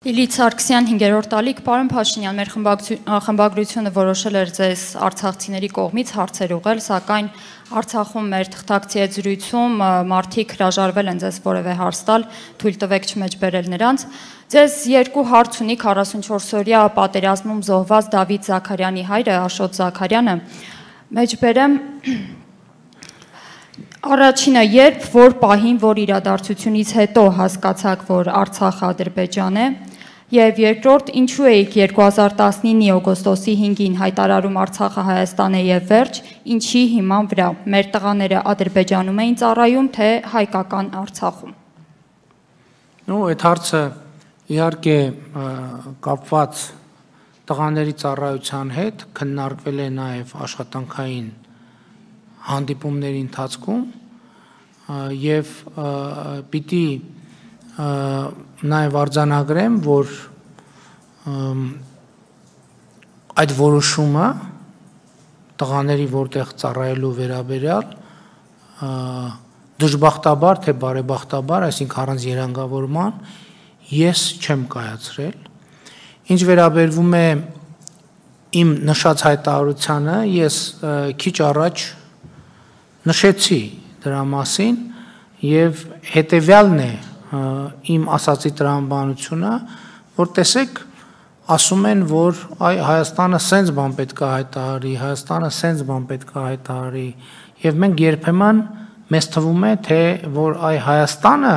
Լիլիթ Սարգսյան 5-րդ տալիք, պարոն Փաշինյան, մեր խմբագրությունը որոշել էր ձեզ արցախցիների կողմից հարցեր ուղղել, սակայն Արցախում մեր թղթակցի հետ զրույցում մարդիկ հրաժարվել են ձեզ որևէ հարց տալ, թույլ տվեք չմեջբերել նրանց։ Ձեզ երկու հարց ունի 44-օրյա պատերազմում զոհված Դավիթ Զաքարյանի հայրը Աշոտ Զաքարյանը։ Մեջբերեմ Առաջինը, երբ որ պահին, որ իրադարձությունից հետո հասկացաք, որ Արցախը Ադրբեջան է, եւ երկրորդ, ինչու էիք 2019-ի օգոստոսի 5-ին հայտարարում Արցախը Հայաստան է եւ վերջ, ինչի հիման վրա մեր տղաները Ադրբեջանում էին ծառայում, թե հայկական Արցախում։ Այդ հարցը իհարկե կապված տղաների ծառայության հետ քննարկվել է նաեւ աշխատանքային հանդիպումների ընթացքում եւ պիտի նաեւ արձանագրեմ, որ այդ որոշումը տղաների որտեղ ծառայելու վերաբերյալ դժբախտաբար թե բարեբախտաբար, այսինքն առանց երանգավորման ես չեմ կայացրել։ Ինչ վերաբերվում է իմ նշած հայտարարությանը, ես քիչ առաջ նշեցի դրա մասին եւ հետեւյալն է իմ ասացի տրամաբանությունը, որ տեսեք, ասում են, որ Հայաստանը սենց բան պետք է հայտարարի, Հայաստանը սենց բան պետք է հայտարարի եւ մենք երբեմն մեզ թվում է, թե որ Հայաստանը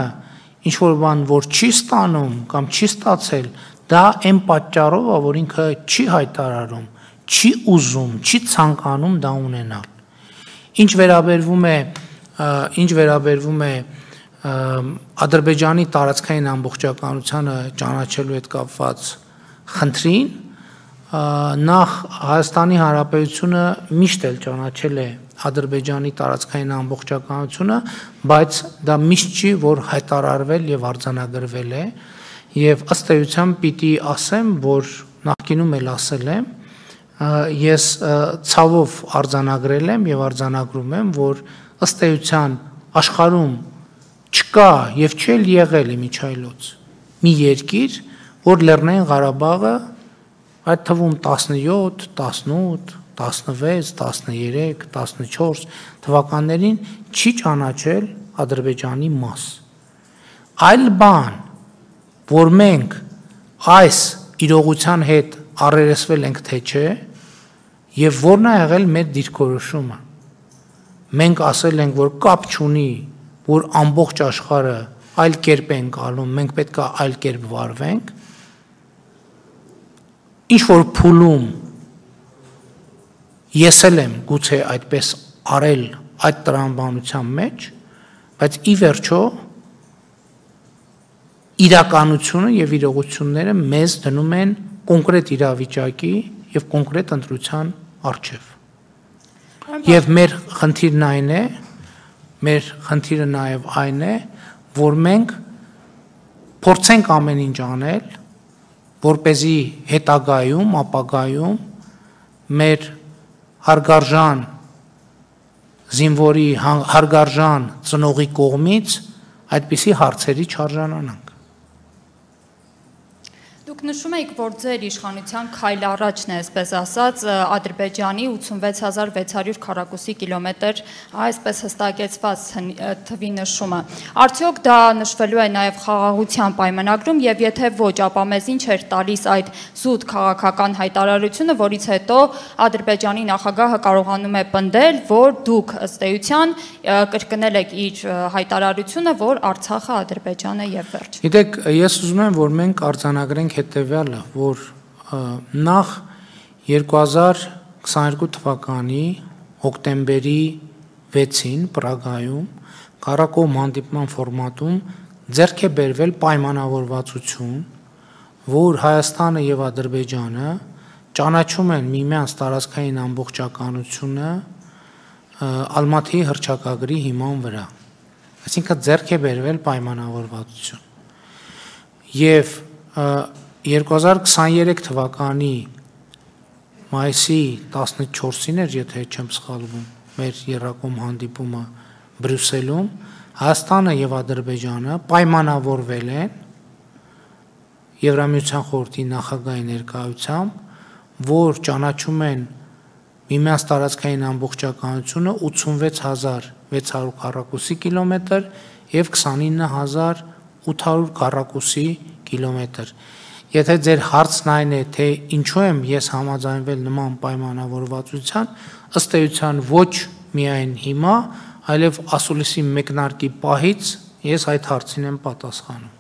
ինչ որ բան որ չի ստանում կամ չի ստացել, դա այն պատճառով է, որ ինքը չի հայտարարում, չի ուզում, չի ցանկանում դա ունենալ։ Ինչ վերաբերվում է Ադրբեջանի տարածքային ամբողջականությանը ճանաչելու հետ կապված խնդրին, նախ Հայաստանի Հանրապետությունը միշտ էլ ճանաչել է Ադրբեջանի տարածքային ամբողջականությունը, բայց դա միշտ չի, որ հայտարարվել եւ արձանագրվել է, եւ ըստ էության պիտի ասեմ, որ նախկինում էլ ասել եմ, ես ցավով արձանագրել եմ եւ արձանագրում եմ, որ ըստ էության աշխարհում չկա եւ չել եղել իմիջայլոց մի երկիր, որ Լեռնային Ղարաբաղը այդ թվում 17, 18, 16, 13, 14 թվականներին չի ճանաչել Ադրբեջանի մաս։ Այլ բան, որ մենք այս իրողության հետ առերեսվել ենք թե չէ, եւ որն է եղել մեր դիրքորոշումը։ Մենք ասել ենք, որ կապ չունի, որ ամբողջ աշխարհը այլ կերպ են գալում, մենք պետք է այլ կերպ վարվենք։ Ինչ որ փուլում ես էլ եմ գուցե այդպես արել այդ տրամաբանության մեջ, բայց ի վերջո իրականությունը եւ իրողությունները մեզ դնում են կոնկրետ իրավիճակի եւ կոնկրետ ընտրության առջև։ Եվ մեր խնդիրը նաեւ այն է, որ մենք փորձենք ամեն ինչ անել, որպեսզի հետագայում, ապագայում մեր հարգարժան զինվորի, հարգարժան ծնողի կողմից այդպիսի հարցերի չարժանանանք։ Դուք նշում եք, որ ձեր իշխանության քայլ առաջն է, այսպես ասած, Ադրբեջանի 86600 քառակուսի կիլոմետր, այսպես հստակեցված թվի նշումը։ Արդյոք դա նշվելու է նաև խաղաղության պայմանագրում եւ եթե ոչ, ապա մեզ ինչ էր տալիս այդ զուտ քաղաքական հայտարարությունը, որից հետո Ադրբեջանի նախագահը կարողանում է պնդել, որ դուք ըստ էության կրկնել եք իր հայտարարությունը, որ Արցախը Ադրբեջան է եւ վերջ։ Գիտեք, ես ուզում եմ, որ մենք արձանագրենք հետևյալը, որ նախ 2022 թվականի հոկտեմբերի 6-ին Պրագայում Կարակոմ հանդիպման ֆորմատում ձեռք է բերվել պայմանավորվածություն, որ Հայաստանը եւ Ադրբեջանը ճանաչում են միմյանց տարածքային ամբողջականությունը Ալմաթիի հռչակագրի հիման վրա։ Այսինքն ձեռք է բերվել պայմանավորվածություն։ Եվ 2023 թվականի մայիսի 14-ին էր, եթե չեմ սխալվում, մեր եռակոմ հանդիպումը Բրյուսելում, Հայաստանը եւ Ադրբեջանը պայմանավորվել են Եվրամիության խորհրդի նախագահի ներկայությամբ, որ ճանաչում են միմյանց տարածքային ամբողջականությունը 86600 քառակուսի կիլոմետր եւ 29800 քառակուսի կիլոմետր։ Եթե ձեր հարցն այն է, թե ինչու եմ ես համաձայնվել նման պայմանավորվածության, ըստ էության ոչ միայն հիմա, այլև ասուլիսի մեկնարկի պահից ես այդ հարցին եմ պատասխանում։